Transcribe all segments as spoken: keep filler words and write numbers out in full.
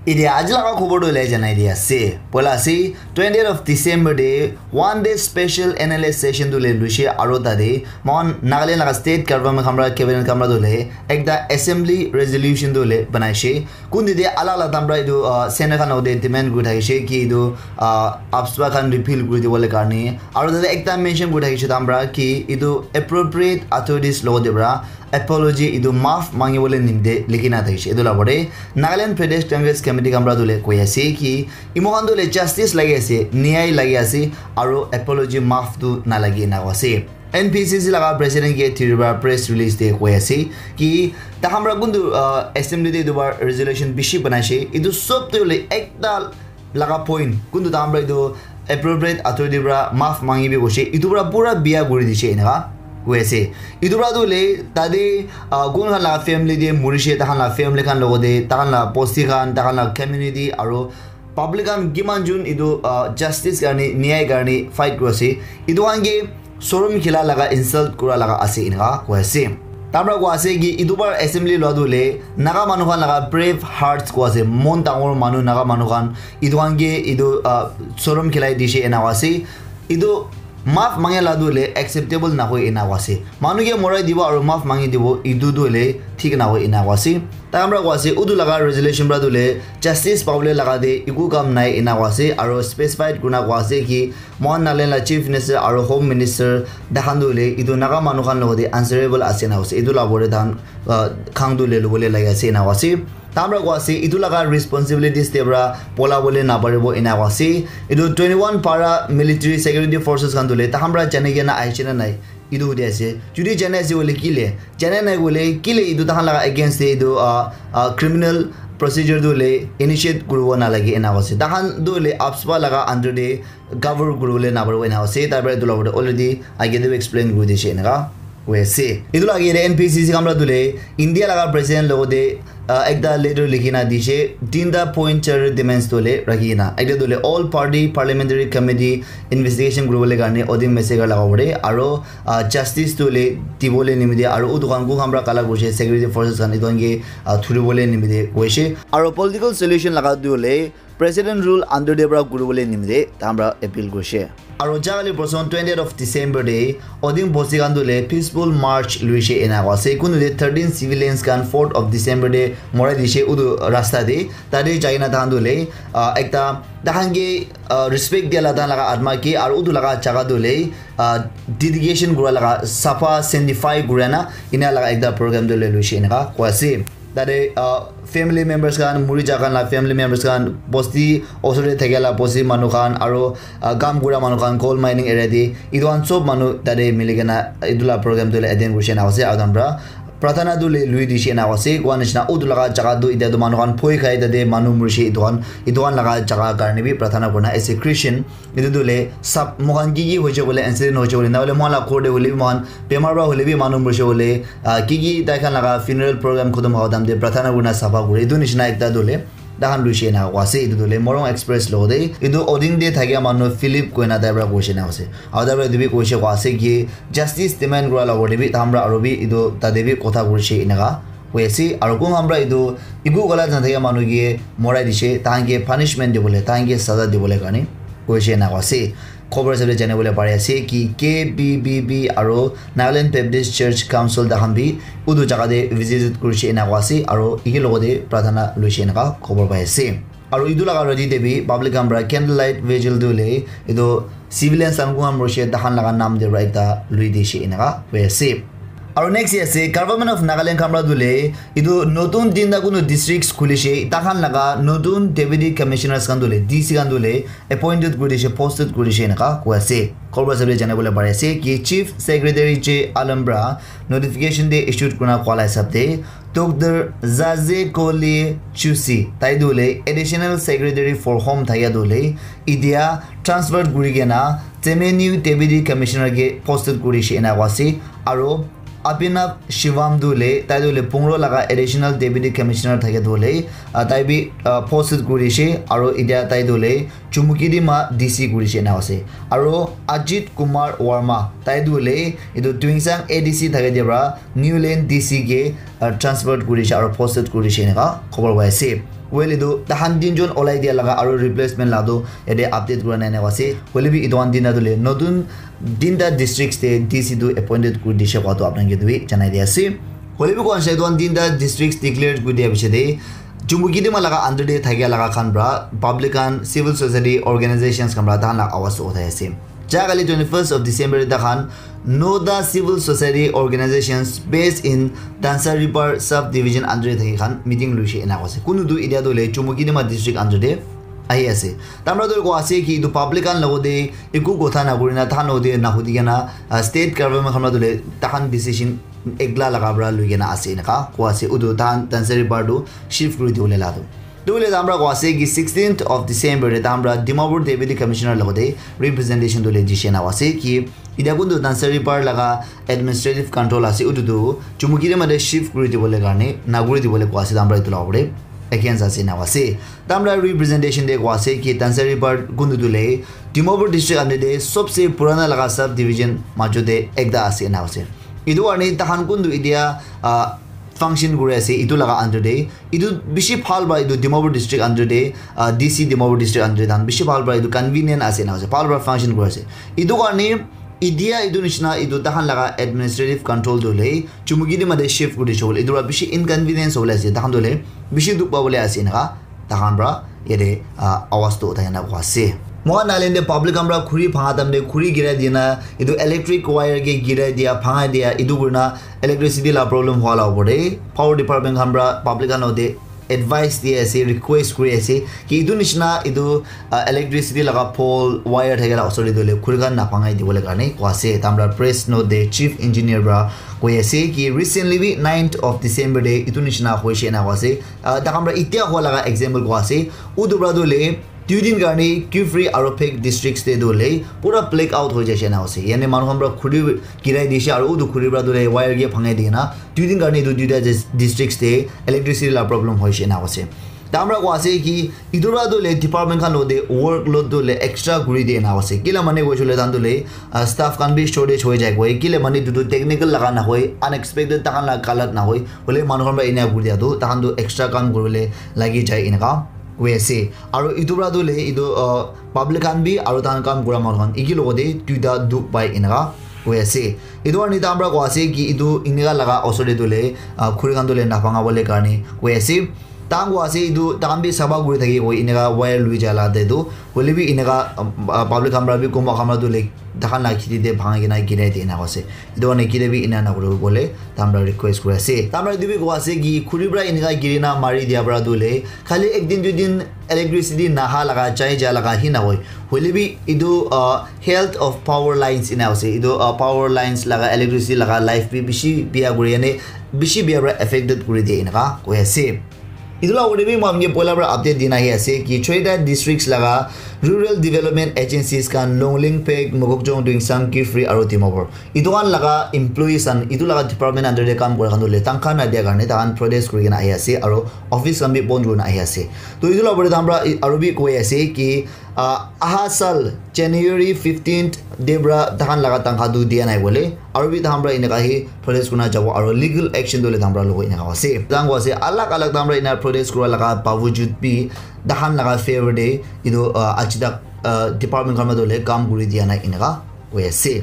Etiya aji laga khobor tu le janai di ase. Poila ase, twentieth of December te one day special N L A session tu le luishe aro tate mohan Nagaland laga state government khan para cabinet khan para tu le ekta assembly resolution tu le banaishe. Kun tete alak alak time para etu, ah, center khan logte demand kuri thakishe ki etu, ah, AFSPA khan repeal kuri dibole karne. Aro tate ekta mention kuri thakishe time para ki etu appropriate authorities logte para apology etu maaf mangi bole nimite likhi na thakishe. Etu la pore Nagaland Pradesh Congress Committee khan para tu le koi ase ki imo khan tu le justice lagi ase, nyay lagi ase, aro apology maaf tu nalagi ena koi ase. N P C C laga president ke thiri para press release te koi ase ki takhan para kuntu, ah, assembly te etu para resolution bishi banaishe. Etu sob tu le ekta laga point kuntu takhan para etu appropriate authority para maaf mangi bi koishe. Etu para pura biya kuri dishe enaka koi ase. Etu para tu le tate, ah, kun khan laga family te murishe, takhan laga family khan logote, takhan laga bosti khan, takhan laga community aro public khan kiman jun etu, ah, justice karne, nyay karne fight kuri ase. Etu khan ke sorom khila laga, insult kura laga ase enaka koi ase. Tar para koi ase ki etu bar assembly lua tu le Naga manu khan laga brave hearts koi ase, mon dangor manu Naga manu khan etu khan ke etu, ah, sorom khilai dishe enaka ase. Etu maaf mangi la tu le acceptable na hoi enaka ase. Manu ke morai dibo aro maaf mangi dibo etu tu le thik na hoi enaka ase. Takhan para koi ase, utu laga resolution para tu le justice pabole laga te eku kam nai ena koi ase, aro specified kurina koi ase ki mohan Nagaland la chief minister aro home minister takhan tu le etu Naga manu khan logote answerable ase na koi ase. Etu la pore takhan, ah, khang tu le lobole lagi ase ena koi ase. Takhan para koi ase, etu laga responsibilities te para pola bole na paribo ena koi ase. Etu twenty-one para military security forces khan tu le takhan para jani kena ahiche na nai. Etu hudi ase. Jodi jane ase hoile kile, jane nai hoile kile etu takhan laga against te etu, ah, ah, criminal procedure tu hoile initiate kuribo nalage ena koi ase. Takhan tu hoile AFSPA laga under te cover kuribole naparibo ena koi ase. Tar para etu la opor te already age te bi explain kuri dishe enaka koi ase. Etu la age te N P C C khan para tu hoile India laga president logote, ah, ekta letter likhi na dishe, tinta point charter demands tu hoile rakhi kena. Ekta tu hoile all party parliamentary committee investigation kuribole karne Oding massacre laga opor te aro, ah, justice tu hoile dibole nimite aro utu khan kun khan para kala kurishe security forces khan etu khan ke, ah, thuribole nimite koishe. Aro political solution laga tu hoile president rule under te para kuribole nimite takhan para appeal kurishe. Aro jagale boson twentieth of December te Oding bosti khan tu hoile peaceful march luishe ena koi ase. Kuntu te thirteen civilians khan fourth of December te morai dishe utu rasta te. Tate jai kena takhan tu hoile, ah, ekta takhan ke, ah, respect dia la takhan laga atma ke aro utu laga jaga tu hoile, ah, dedication kura laga, sapha sanctify kura na ena laga ekta program tu hoile luishe enaka koi ase. Tate, ah, family members khan, muri ja khan la family members khan, bosti osor te thakia la bosti manu khan, aro, ah, kam kura manu khan, coal mining area te, etu khan sob manu tate mili kena etu la program tu hoile attend kurishe ena ase, aro takhan para prarthana tu hoile lui dishe ena ase, koi nishina utu laga jaga tu etiya tu manu khan bhoi khai tate manu murishe etu khan, etu khan laga jaga karne bi prarthana kurina as a Christian, etu tu hoile sab moikhan ki ki hoise koile incident hoise koile na hoile moikhan la ghor te hoile bi moikhan bemar para hoile bi manu murishe koile, ah, ki ki tai khan laga funeral program khotom howa time te prarthana kurina sapha kure. Etu nishina ekta tu hoile takhan luishe ena koi ase. Etu tu hoile Morung Express logote etu Oding te thakia manu Philip koina tai para koishe ena ase. Aro tai para etu bi koishe koi ase ki justice demand kura la opor te bi takhan para aro bi etu tate bi kotha kurishe enaka koi ase. Aro kun khan para etu eku galat nathakia manu ke morai dishe, takhan ke punishment dibole, takhan ke saza dibole karne koishe ena koi ase. Khobor hisab te jani bole pari ase ki K B B B aro Nagaland Baptist Church Council takhan bi utu jaga te visit kurishe ena koi ase aro eke logote prarthana luishe enaka khobor pai ase. Aro etu laga rati te bi public khan para candle light vigil tu hoile etu civilians khan kun khan murishe takhan laga nam te para ekta lui dishe enaka koi ase. Aro next ase Government of Nagaland khan para tu hoile etu notun tinta kunu districts khulishe, takhan laga notun deputy commissioners khan tu hoile D C khan tu hoile appointed kuri dishe, posted kuri dishe enaka koi ase. Khobor hisab te jani bole pari ase ki Chief Secretary J Alam para notification te issued kurina koi la hisab te Doctor Zaze Kole Chusi, tai tu hoile Additional Secretary for Home thakia tu hoile etiya transfer kuri kena Chemenu Deputy Commissioner ke posted kuri dishe ena koi ase. Aro Abhinav Shivam tu hoile, tai tu hoile Pungro laga Additional Deputy Commissioner thakia tu hoile, ah, tai bi, ah, posted kuri dishe, aro etiya tai tu hoile Chumukidima D C kuri dishe ena ase. Aro Ajit Kumar Verma, tai tu hoile etu Tuensang A D C thakia te para New Lane D C ke uh, transfer kuri dishe aro posted kuri dishe eneka khobor pai ase. Well, etu tahan tinjon olai dia laga aro replacement la tu yate update kura nai eneka ase. Hoile bi etu khan tinta tu le notun tinta districts te D C tu appointed kuri dishe koa tu apni khan ke tu bi janai dia ase. Hoile bi koa sai etu khan tinta districts declare kuri dia piche te Chumukedima laga under te thakia laga khan pra public khan, civil society organizations khan pra tahan la awaz uthai ase. Ja kali twenty-first of December te tahan nota civil society organizations based in Tansaripar sub division under te thaki khan meeting luishe ena koise. Kunu tu etia tu le Chumukedima district under te ahi ase. Tamra tu koa ase ki etu public khan logote eku kotha na kurina tahan logote na hudi kena, uh, state government khan pra tu le tahan decision ekla laga pra lui kena ase eneka koa ase. Utu tahan Tansaripar tu shift kuri dibole la tu. Tu le tamra koa ase ki sixteenth of December te tamra Dimapur Deputy Commissioner logote representation tu le dishe na ase ki etia kuntu Tansaripar laga administrative control ase utu tu Chumukedima te shift kuri dibole karne na kuri dibole koa ase tamra etu la opor te against ase na ase. Tamra representation te koa ase ki Tansaripar kuntu tu le Dimapur district under te sobse purana laga sub division majo te ekta ase na ase. Etu karne tahan kuntu etia, ah, function kuri ase etu laga under te. Etu bishi bhal pra etu Dimapur district under te, ah, D C Dimapur district under te tahan bishi bhal pra etu convenient ase na ase. Bhal pra function kuri ase. Etu karne etia etu nishina etu tahan laga administrative control tu le Chumukedima te shift kuri dishe bole. Etu pra bishi inconvenience hobole ase. Tahan tu le bishi dukh pabole ase eneka tahan pra yate, ah, awaz tu uthai na koa ase. Mohan Nagaland te public khan pra khuri bhanga time te khuri girai dina, etu electric wire ke girai dia, bhangai dia, etu kurina electricity la problem hua la opor te power department khan pra public khan logote advice di ase, request kuri ase ki etu nishina etu, ah, electricity laga pole wire thakila osor te tu le khuri khan na bhangai dibole karne koa ase. Tamra press note te chief engineer pra koi ase ki recently bi ninth of December te etu nishina hoishe na koa ase. Ah, takhan pra itia hua laga example koa ase. Utu pra tu le dui din karne Kiphire aro Phek districts te tu le pura black out hoi jaise na ase. Yani manu khan pra khuri girai dishe aro utu khuri pra tu le wire ke bhangai dina dui din karne etu duita dis-, districts te electricity la problem hoishe na ase. Tamra koa ase ki etu pra tu le department khan logote workload tu le extra kuri dina ase. Kila mane koishe le tahan tu le, ah, staff khan bi shortage hoi jai koi. Kila mane etu tu technical laga na hoi, unexpected tahan la galat na hoi. Hoile manu khan pra ena kuri dia tu tahan tu extra kam kuribole lagi jai eneka koi ase. Aro etu pra tu le etu, uh, public khan bi aro tahan kam kura manu khan eki logote duita dukh pai eneka koi ase. Etu karne tahan pra koa ase ki etu eneka laga osor te tu le, uh, khuri khan tu le na bhanga bole karne koi ase. Tahan koa ase etu tahan bi sapha kuri thaki koi eneka wire lui jai la te tu. Hoile bi eneka, um, uh, public khan pra bi kunba khan pra tu le tahan la kheti te bhangai kena girai de eneka ase. Etu karne kile bi ena na kuribo bole tahan pra request kuri ase. Tahan pra etu bi koa ase ki khuri pra eneka giri na mari dia pra tu le khali ek din dui din electricity naha laga jai ja laga hi na hoi. Hoile bi etu, uh, health of power lines ena ase. Etu, uh, power lines laga electricity laga life bi bishi bia kuri ane bishi bia pra affected kuri de eneka koi ase. Etu la opor te bi moi apni ke poila pra update dina ahi ase ki choita districts laga rural development agencies khan Longleng, Phek, Mokokchung, Tuensang, Kiphire aro Dimapur. Etu khan laga employees khan etu laga department under te kam kura khan tu le tankha na dia karne tahan protest kuri kena ahi ase aro office khan bi bon kuri kena ahi ase. To etu la opor te tahan pra i-, aro bi koi ase ki, ah, aha sal January fifteenth te pra tahan laga tankha tu dia nai bole. Aro bi tahan pra eneka hi protest kurina jabo aro legal action tu le tahan pra lobo eneka ase. Tahan koa ase alag alag tahan pra ena protest kura laga bawajud bi tahan laga favor te etu, ah, aji tak, ah, department khan pra tu le kam kuri dia nai eneka koi ase.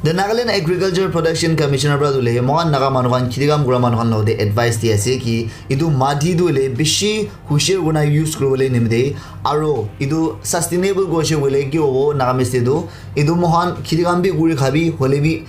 The Nagaland Agriculture Production Commissioner pra tu le mohan Naga manu khan kheti kam kura manu khan logote advice di ase ki etu mati tu le bishi hushar kurina use kuribole nimite aro etu sustainable koishe koile ki hobo Nagamese te tu etu mohan kheti kam bi kuri khabi hoile bi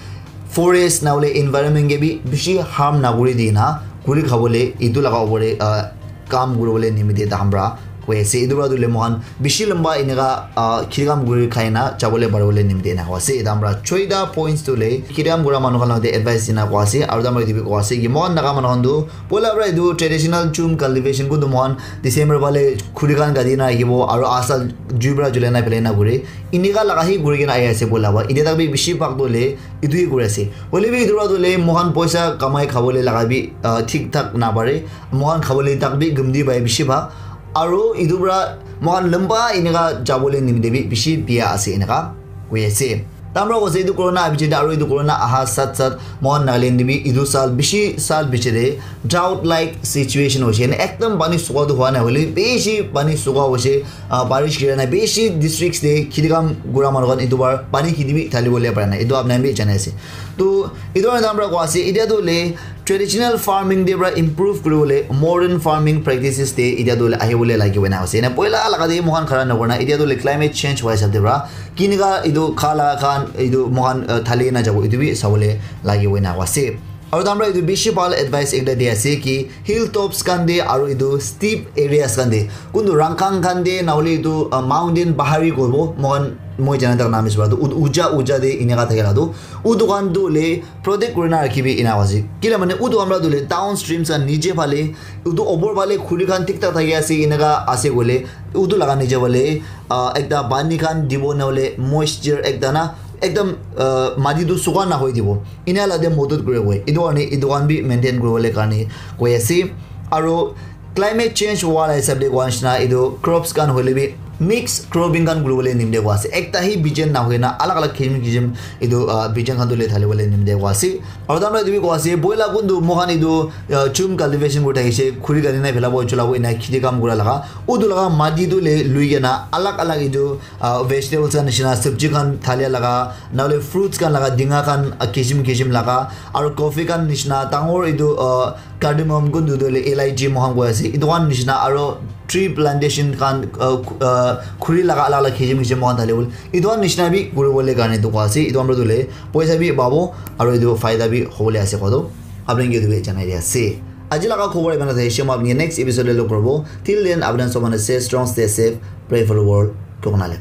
forest na hoile environment ke bi bishi harm na kuri dina kuri khabole etu laga opor te, ah, kam kuribole nimite tahan pra koi ase. Etu pra tu le mohan bishi lamba eneka, ah, kheti kam kuri khai na jabole paribole nimite ena koa ase. Tahan pra choita points tu le kheti kam kura manu khan logote advice dina koa ase aro tahan pra etu bi koa ase ki mohan Naga manu khan tu poila pra etu traditional chum cultivation kuntu mohan December phale khuri khan kati na rakhibo aro aha sal jui pra julai na phelai na kure. Eneka laga hi kuri kena ahi ase poila pra. Etia tak bi bishi bhag tu le etu hi kuri ase. Hoile bi etu pra tu le mohan poisa kamai khabole laga bi, ah, thik thak na pare. Mohan khabole tak bi gumti pai bishi bhag. Aro etu pra mohan lamba eneka jabole nimite bi bishi bia ase eneka koi ase. Tamra koise etu corona abiche de aru etu corona aha sat sat mohan Nagaland de bi etu sal bishi sal biche de drought like situation hoise. Ene ekdam pani suka tu hua nai hoile bishi pani suka hoise. Ah, barish gira nai bishi districts de khiti kam gura manu khan etu bar pani khiti bi thali bole para nai. Etu apna bi janai ase. To etu tamra ko ase. Idia tu le traditional farming de pra improve kuri bole modern farming practices de idia tu le ahi bole lagi bole na ase. Ene poila laga de mohan khara na korna. Idia tu le climate change hua hisab de pra kinika etu khala khan etu mohan, uh, thali na jabo etu bi sabole lagi bole na ase. Aru tamra etu bishi bhal advice ekta di ase ki hill tops khan de aru etu steep areas khan de kuntu rangkang khan de na hole etu, uh, mountain bahari kobo mohan moi jana tak naam is bara tu u- uja uja de ineka thake la tu utu khan tu le protect kuri na rakhibi ena ase. Kila mane utu amra tu le downstream sa niche phale utu opor phale khuri khan thik thak thaki ase eneka ase koile utu laga niche phale, ah, ekta pani khan dibo na hole moisture ekta na ekdam, ah, mati tu suka na hoi dibo. Ina la de modot kure koi. Etu karne etu khan bi maintain kuri bole karne koi ase. Aru climate change hua la hisab de koa nishina etu crops khan hoile bi mix cropping khan kuri bole nimde koa ase. Ekta hi bijan na hoina alag alag kisim kisim etu, ah, bijan khan tu le thali bole nimde koa ase. Aru tamra etu bi koa ase boila kuntu mohan etu, ah, chum cultivation kuri thakise khuri gani nai phela bo chula bo ina khiti kam kura laga utu laga mati tu le lui kena alag alag etu, ah, vegetables khan nishina sabji khan thalia laga na hole fruits khan laga dinga khan, ah, kisim kisim laga aru coffee khan nishina dangor etu, ah, cardamom kuntu tu le elaichi mohan koi ase etu khan nishina aru tree plantation khan, uh, uh, khuri laga alak alak kisim kisim mohan thali bole etu khan nishina bi kuri bole karne tu koa ase etu khan para tu le poisa bi pabo aru etu faida bi hobole ase koa tu apni ke etu bi janai di ase. Aji laga khobor iman ase. Shema apni next episode le log koribo. Till then apni sob manu stay strong, stay safe, pray for the world. Koknale.